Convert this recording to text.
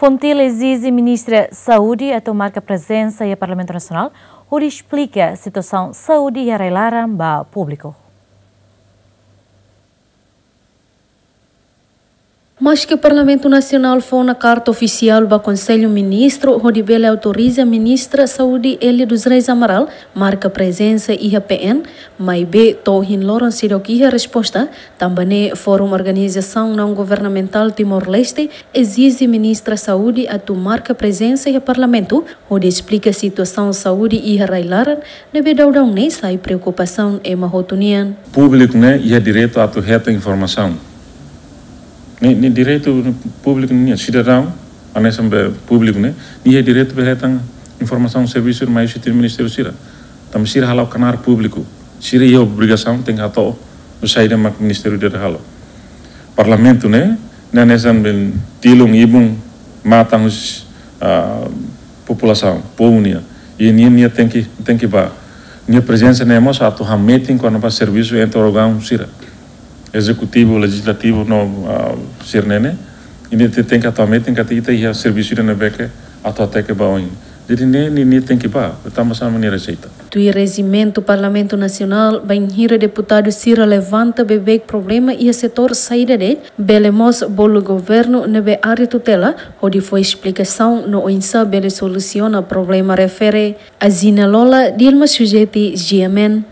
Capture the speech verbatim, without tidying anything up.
Fontil ezije Ministra Saúde atu marka prezensa iha Parlamentu Nasionál hodi esplika situasaun saúde iha rai-laran ba públiku. Maske Parlamentu Nasionál fó ona karta ofisiál ba Konsellu Ministru hodi bele autoriza Ministra Saúde Elia dos Reis Amaral marka prezensa iha P N, maibé to'o ohin loron seidauk iha resposta, tanba ne'e Fórum Organizasaun Naun Governamentál Timor-Leste ezije Ministra Saúde atu marka prezensa iha Parlamentu hodi esplika situasaun saúde iha rai-laran ne'ebé daudaun ne'e sai preokupasaun ema hotu nian. Públiku ne'e iha direitu atu hetan informasaun. Ne'e, ne'e direitu públiku nian, sidadaun, hanesan be públiku ne'e, nia iha direitu be hetan informasaun servisu mai husi ministériu sira. Tanba sira hala'o knaar públiku, sira iha obrigasaun tenke hato'o saida mak ministériu ida halo. Parlamentu ne'e, ne'e hanesan be tilun, ibun, matan husi, ah, populasaun, povu nian. I nia, nia tenke, tenke bá. Nia prezensa ne'e mós atu hametin kona-ba servisu entre órgaun sira, ezekutivu, lejizlativu no, ah, sira-ne'e. I nia te-, tenke atu hametin katak ita iha servisu ida ne'ebé ke atu hateke ba oin. Jadi ne'e, nia, nia tenke bá, tanba sá mak nia rejeita. Tuir rejimentu Parlamentu Nasionál, bainhira deputadu sira levanta beibeik problema iha setór saida de'it, bele mós bolu governu ne'ebé área tutela hodi fó esplikasaun no oinsá bele solusiona problema refere. Azina Lola, Dilma Sujeti, G M N.